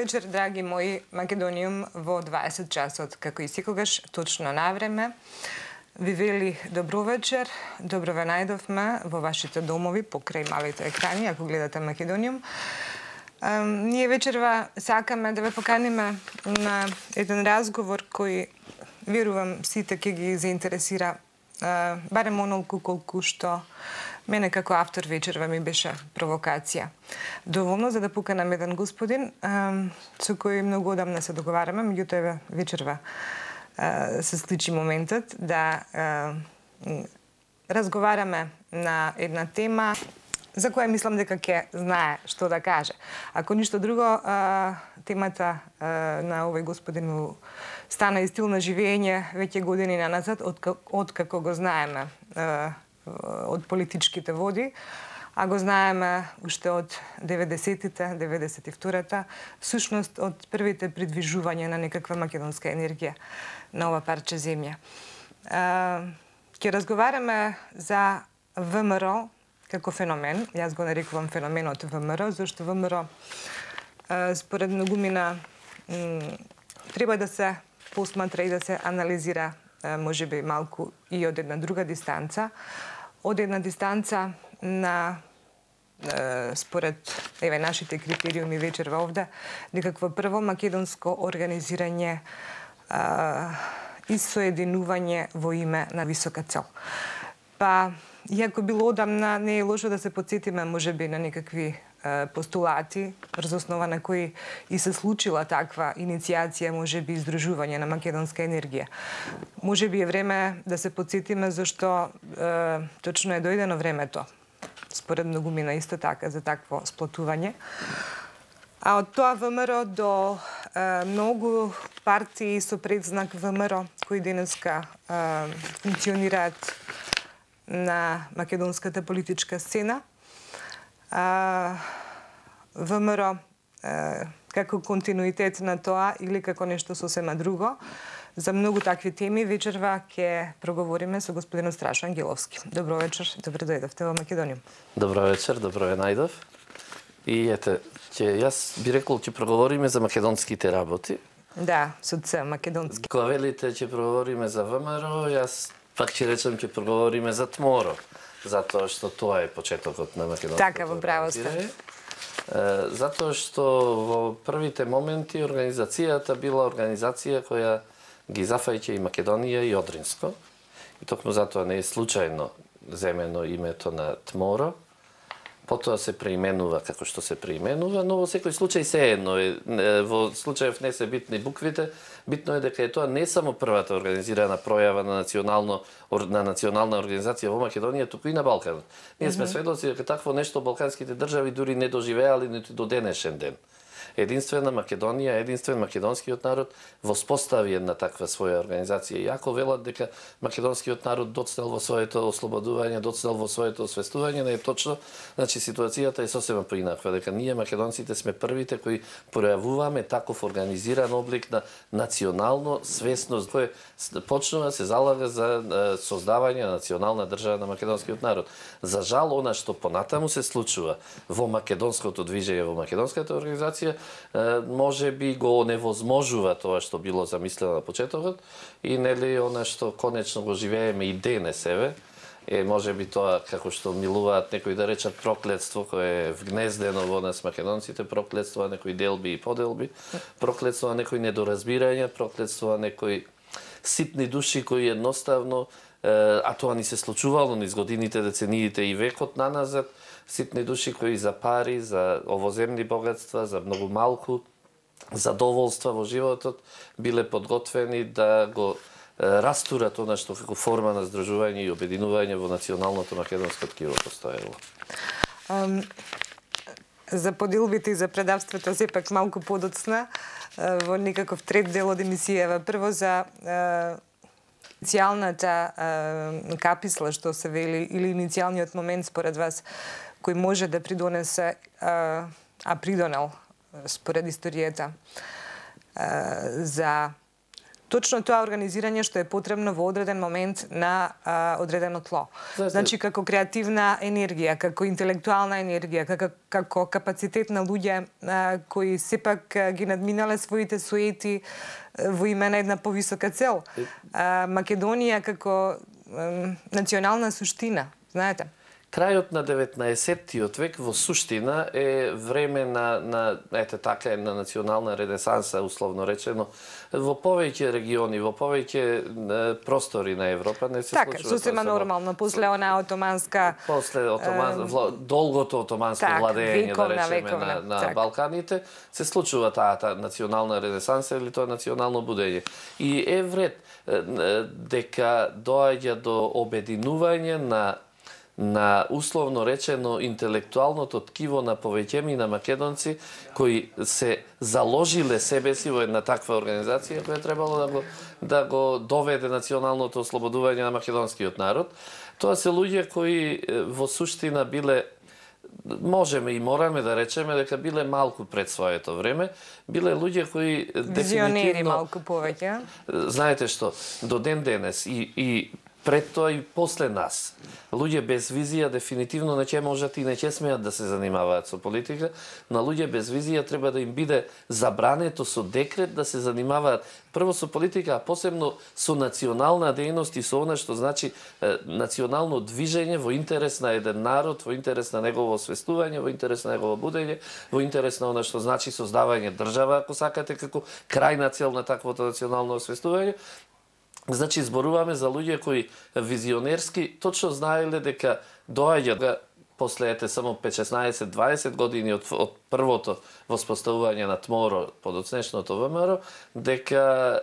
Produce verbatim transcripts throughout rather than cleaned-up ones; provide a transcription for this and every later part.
вечер, драги мои, Македониум во дваесет часот, како и секогаш, точно на време. Ви вели добро вечер, добро ве најдовме во вашите домови, покрај малите екрани, ако гледате Македониум. Ние вечерва сакаме да ве поканиме на еден разговор кој, верувам, сите ќе ги заинтересира, барем онолку колку што мене како автор вечерва ми беше провокација. Доволно за да поканам еден господин со кој многу одамна се договараме, меѓутоа вечерва се случи моментот да разговараме на една тема за која мислам дека ќе знае што да каже. Ако ништо друго, темата на овој господин стана и стил на живење веќе години наназад, од како го знаеме од политичките води, а го знаеме уште од деветдесетите, деветдесет и втората, всушност од првите придвижувања на некаква македонска енергија на ова парче земја. Ќе разговараме за ВМРО како феномен. Јас го нарекувам феноменот ВМРО, зашто ВМРО според многумина треба да се посматра и да се анализира можеби малку и од една друга дистанца, од една дистанца на според еве нашите критериуми вечерва овде, некакво прво македонско организирање и соединување во име на висока цел. Па, иако било одамна, не е лошо да се потсетиме можеби на некакви постулати, врз основа на кои и се случила таква иницијација, можеби издружување на македонска енергија. Можеби е време да се потсетиме зашто е, точно е дојдено времето, според многумина исто така, за такво сплотување. А од тоа ВМРО до е, многу партии со предзнак ВМРО, кои денеска е, функционираат на македонската политичка сцена, А, ВМРО е, како континуитет на тоа или како нешто сосема друго. За многу такви теми вечерва ќе проговориме со господинот Страшо Ангеловски. Добро вечер, добро дојдовте во Македониум. Добро вечер, добро ве најдов. И ете, ќе јас би рекол ќе проговориме за македонските работи. Да, со Ц, македонски. Кога велите ќе проговориме за ВМРО, јас пак ќе речем ќе проговориме за ТМОРО. Затоа што тоа е почетокот на македонското така, во право сте. Затоа што во првите моменти организацијата била организација која ги зафаќа и Македонија и Одринско. И токму затоа не е случајно земено името на ТМОРО. Потоа се преименува како што се преименува, но во секој случај се едно е. Во случајов не се битни буквите, битно е дека е тоа не само првата организирана пројава на национално на национална организација во Македонија, туку и на Балканот. Ние сме сведоци дека такво нешто балканските држави дури не доживеали ниту до денешен ден. Единствена Македонија, единствен македонскиот народ воспостави една таква своја организација. Иако велат дека македонскиот народ доцнел во своето ослободување, доцнел во своето освестување, не е точно. Значи ситуацијата е сосема поинаква, дека ние македонците сме првите кои пројавуваме таков организиран облик на национално свесност, кој почнува се залага за создавање на национална држава на македонскиот народ. За жал, она што понатаму се случува во македонското движење, во македонската организација, може би го невозможува тоа што било замислено на почетокот и нели она што конечно го живееме и денес еве е може би тоа како што милуваат некои да речат проклетство кое е вгнездено во нас македонците, проклетство на некои делби и поделби, проклетство на некои недоразбирања, проклетство на некои ситни души кои едноставно, а тоа ни се случувало низ годините, децениите и векот наназад, ситни души кои за пари, за овоземни богатства, за многу малку задоволства во животот биле подготвени да го растурат она што како форма на здружување и обединување во националното македонско ткиво постоело. Um, за поделбите и за предавствата сепак малку подоцна во некаков трет дел од емисијава. Прво за иницијалната каписла што се вели или иницијалниот момент според вас кој може да придонесе, а, а придонел според историјата за точно тоа организирање што е потребно во одреден момент на а, одредено тло. Значи како креативна енергија, како интелектуална енергија, како, како капацитет на луѓе а, кои сепак а, ги надминале своите суети во име на една повисока цел. А, Македонија како а, национална суштина, знаете. Крајот на деветнаесеттиот век во суштина е време на, на ете така, на национална ренесанса, условно речено, во повеќе региони, во повеќе простори на Европа не се така, случува. Така, сосема нормално, после она отоманска... После отоман... е... вла... долгото отоманско так, владење, да речеме, вековна, на, на так. Балканите, се случува таа та национална ренесанса или тоа национално будење. И е вред дека доаѓа до обединување на на условно речено интелектуалното ткиво на повеќемина македонци кои се заложиле себе си во една таква организација која требало да го да го доведе националното ослободување на македонскиот народ. Тоа се луѓе кои во суштина биле, можеме и мораме да речеме дека биле малку пред своето време, биле луѓе кои визионери малку повеќе. Знаете што, до ден денес и и пред тоа и после нас. Луѓе без визија дефинитивно не ќе можат и не ќе смеат да се занимаваат со политика, на луѓе без визија треба да им биде забрането со декрет да се занимаваат прво со политика, а посебно со национална дејност и со она што значи е, национално движење во интерес на еден народ, во интерес на негово освестување, во интерес на негово будење, во интерес на она што значи создавање држава, ако сакате, како крајна цел на таквото национално освестување. Значи, зборуваме за луѓе кои визионерски точно знаеле дека доаѓа после ете само петнаесет дваесет години од, од првото воспоставување на ТМОРО, подоцнешното ВМРО, дека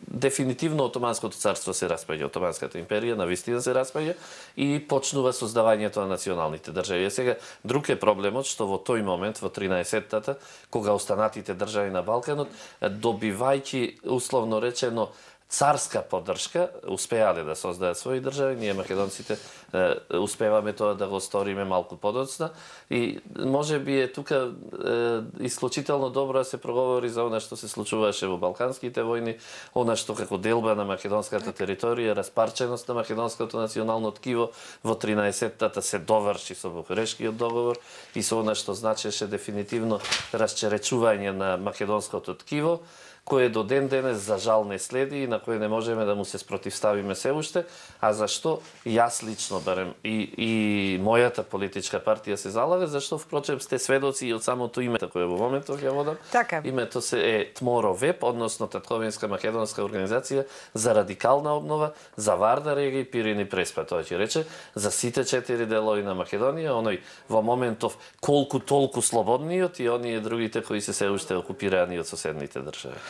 дефинитивно Отоманското царство се распаѓа, Отоманската империја навистина се распаѓа и почнува создавањето на националните држави. Сега, друг е проблемот што во тој момент, во тринаесеттата, кога останатите држави на Балканот, добивајќи, условно речено, царска поддршка, успеале да создаат своји држави, ние македонците е, успеваме тоа да го сториме малку подоцна и може би е тука е, исклучително добро да се проговори за она што се случуваше во Балканските војни, она што како делба на македонската територија, распарченост на македонското национално ткиво во тринаесеттата се доврши со Букурешкиот договор и со она што значеше дефинитивно расчеречување на македонското ткиво, кое до ден денес за жал не следи и на кое не можеме да му се спротивставиме се уште, а зашто јас лично барем и, и мојата политичка партија се залага, зашто впрочем сте сведоци и од самото име кое во моментот ја водам. Така. Името се е ТМОРО Веб, односно Татковинска македонска организација за радикална обнова, за Вардар, Ега и Пирин и Преспа, тоа ќе рече, за сите четири делови на Македонија, оној во моментов колку толку слободниот и оние другите кои се се уште окупирани од соседните држави.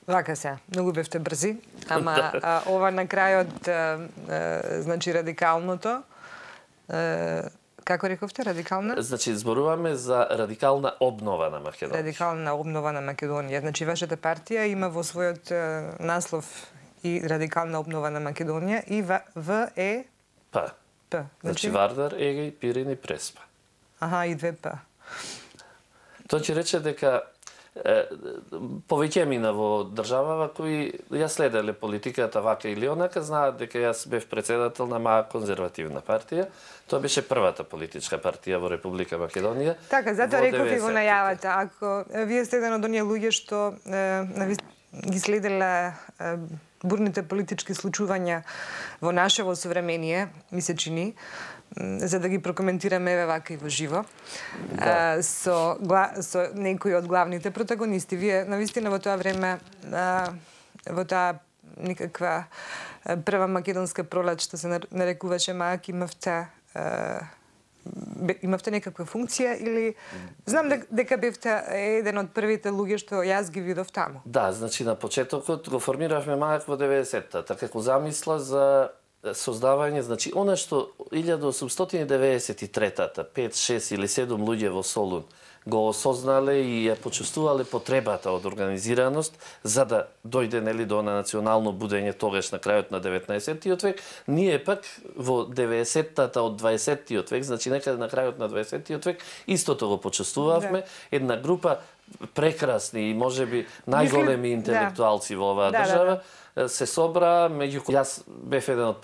Вака се, многу бевте брзи, ама а, ова на крајот, а, а, значи радикалното, а, како рековте, радикална? Значи, зборуваме за радикална обнова на Македонија. Радикална обнова на Македонија. Значи, вашата партија има во својот а, наслов и радикална обнова на Македонија и В е... П. П. Значи, Вардар, Егеј, Пирин и Преспа. Аха, и две П. Тоа ќе рече дека повеќемина во државава кои ја следеле политиката вака или онака, знаат дека јас бев председател на маа конзервативна партија. Тоа беше првата политичка партија во Република Македонија. Така, затоа реков и во најавата. Ако вие сте еден од оние луѓе што е, ги следеле е, бурните политички случувања во нашево современие, ми се чини, за да ги прокоментираме еве вака и во живо, да. со, со некои од главните протагонисти. Вие, навистина, во тоа време, во таа никаква прва македонска пролет, што се нарекуваше МАК, имавте, имавте некаква функција или... Знам дека бевте еден од првите луѓе што јас ги видов таму. Да, значи на почетокот го формиравме МАК во деветдесеттата, како замисла за создавање, значи, она што илјада осумстотини деветдесет и третата, пет, шест или седум луѓе во Солун го осознале и ја почувствувале потребата од организираност за да дојде нели до национално будење тогаш на крајот на деветнаесеттиот век. Ние пак во деветдесеттата од дваесеттиот век, значи некаде на крајот на дваесеттиот век, истото го почувствувавме. Да. Една група прекрасни и можеби најголеми интелектуалци во оваа Да, да, држава се собра, меѓу јас бев еден од